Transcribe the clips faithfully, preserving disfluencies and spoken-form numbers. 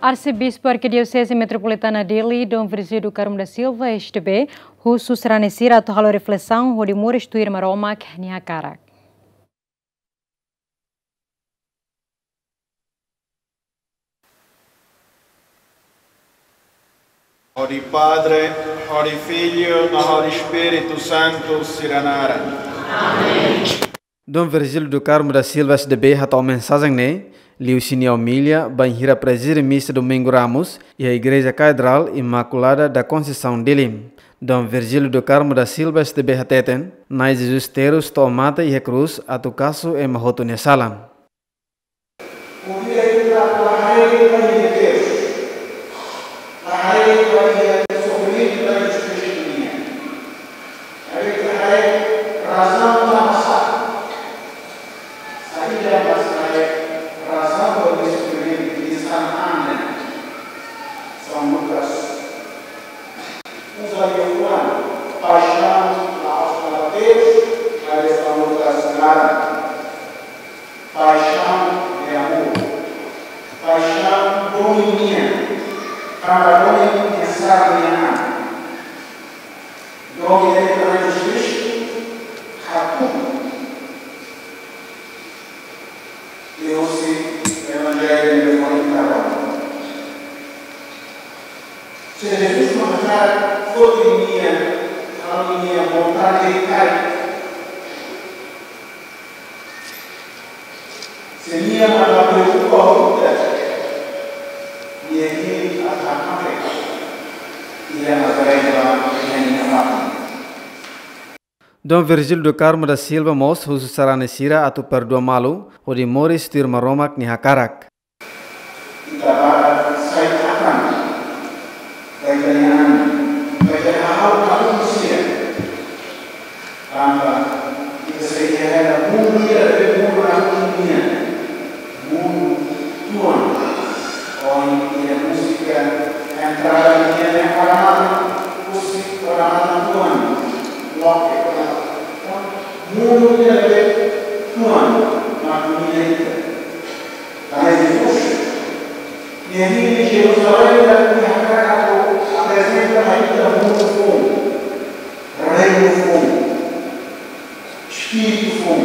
Arsebispu Arkidioseze Metropolitana Dili, Dom Virgílio do Carmo da Silva, S D B, husu sarani sira atu halo reflesaun hodi moris tuir Maromak nia hakarak. Hodi Padre, hodi Filho, no hodi Espíritu Santu sira naran. Dom Virgílio do Carmo da Silva, S D B, hato'o mensajen ne'e liuhusi nia omilia bainhira prezide misa Domingu Ramus iha Igreja Katedrál Imakulada da Conceição Dili. Dom Virgílio do Carmo da Silva, S D B, hateten, Na'i Jesus terus to'o mate iha krús atu kasu ema hotu nia sala. Ohin ita la haree ba iha Deus, la haree ba iha sofrimentu ba iha Kristu nian. Haree, ita haree razaun tanba sá. Saida mak sai razaun ba sofrimentu di São André, São Lucas. Uza liafuan paixaun la'ós para Deus, haree São Lucas naran. Paixão de amor. Paixaun domin nian. Tanba domin nian sá nian. Domin nian para Jesus Kristu. Hatu. Liuhusi Evanjellu ne'ebé foin tau. Se Jesus mak hakarak foti nia, halo nia vontade karik. Se nia mak la preokupa ho ita, nia hili atu hakmatek ita, nia la preokupa ho nia mate. Dom Virgílio do Carmo da Silva mós husu sarani sira atu perdua malu, hodi moris tuir Maromak nia hakarak. Ita barak sai akan, ba ita-nia an, ba ita-nia hahú, hahú manusia. Tanba ita sei iha mundu ida, mundu na dunia, mundu tuan. Ohin iha múzika entrada nian, nia para matan, husi para matan tuan, loke para matan. Mundu ida tuan, mak dunia ida. Tanba Jesus, nia hili Jerusalém, nia hakarak atu aprezenta ba ita mundu foun, reinu foun, espíritu foun.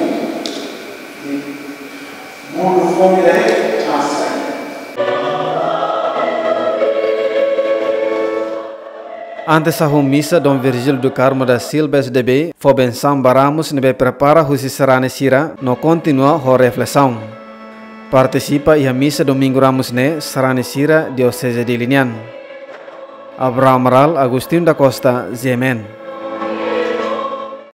Mundu foun ida-ne'e mak sai. Antes hahú misa, Dom Virgílio do Carmo da Silva, S D B, fó bensaun ba ramus ne'ebé prepara husi sarani sira no kontinua ho reflesaun. Partisipa iha misa Domingu Ramus ne'e sarani sira Dioseze Dili nian. Abraham Amaral, Agostinho da Costa, G M N.